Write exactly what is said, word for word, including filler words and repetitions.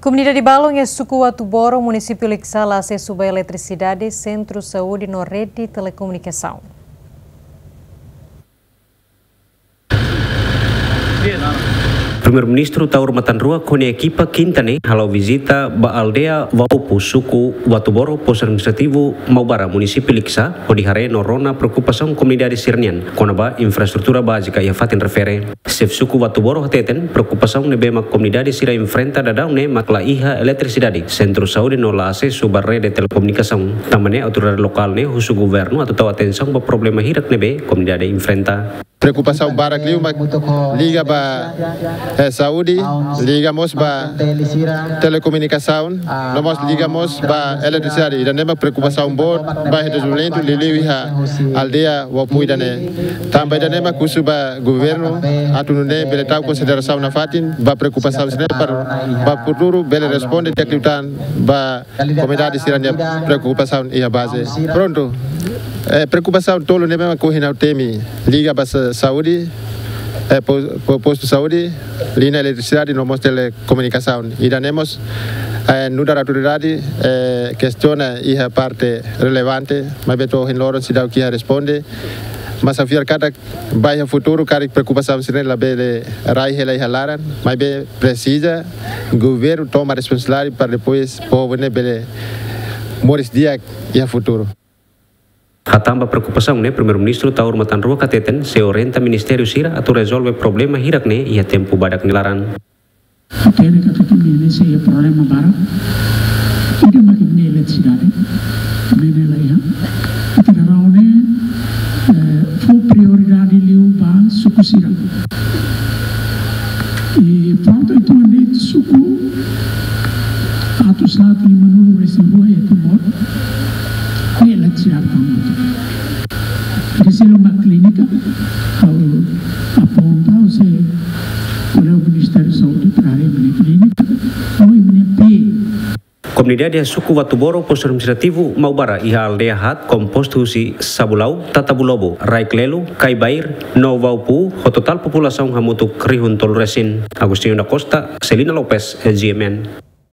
Komunidade balun iha suku Uatuboro, munisípiu Likisá, la asesu ba eletrisidade, sentru saúde no rede telekomunikasaun. Primeiru-Ministru Taur Matan Ruak ho nia ekipa kinta ne'e hala'o vizita ba aldeia Vaupu, suku Uatuboro, postu administrativu Maubara, munisípiu Likisá, hodi haree no rona preokupasaun komunidade sira-nian kona-ba infraestrutura bázika iha fatin refere. Xefe suku Uatuboro hateten, preokupasaun ne'ebé mak komunidade sira enfrenta daudaun ne'e mak la iha eletrisidade, sentru saúde no la asesu ba rede telekomunikasaun. Tanba ne'e autoridade lokál ne'e husu governu atu tau atensaun ba problema hirak ne'ebé komunidade enfrenta. Preokupasaun barak liu mak liga ba, eh, saúde, liga mós ba telekomunikasaun, no mós liga mós ba eletrisidade. Ida-ne'e mak preokupasaun boot ba iha dezenvolvimentu liuliu iha aldeia Vaupu ida-ne'e. Tanba ida-ne'e mak husu ba governu atu nune'e bele tau konsiderasaun nafatin ba preokupasaun sira-ne'e para ba futuru bele responde di'ak liután ba komunidade sira-nia preokupasaun iha baze. Prontu. Eh, preokupasaun tolu ne'ebé mak ohin ha'u temi liga ba sa-, saúde, eh, po-, po-, postu saúde, liña eletrisidade no mós telekomunikasaun. Ida-ne'e mós, eh, nu'udar autoridade, eh, kestiona iha parte relevante, maibé to'o ohin loron seidauk iha responde. Mas ha'u fiar katak ba iha futuru karik preokupasaun sira-ne'e labele rai hela iha laran, maibé presiza governu toma responsabilidade para depois povu ne'e bele moris di'ak iha futuru. Hatán ba preokupasaun ne'e, Primeiru-Ministru Taur Matan Ruak hateten sei orienta ministériu sira atu rezolve problema hirak ne'e iha tempu badak nia laran. Hatene katak imi-ne'e sei iha problema barak. Ida mak imi-nia eletrisidade, imi-ne'e la iha. Ita dadaun ne'e, eh, fó prioridade liu ba suku sira. I prontu, ita-nia suku atus haat limanulu-resin-rua iha Timor, nia eletrisidade tama hotu. Ida seluk mak klínika, ha'u aponta, ha'u sei ko'alia ho Ministériu Saúde para haree imi-nia klínika, no imi-nia pee. Komunidade iha suku Uatuboro, postu administrativu Maubara, iha aldeia haat kompostu husi Sabulau, Tatabulobo, Raiklelo, Kaibair no Vaupu, ho totál populasaun hamutuk rihun tolu resin. Agostinho da Costa, Celina Lopes, S G M N.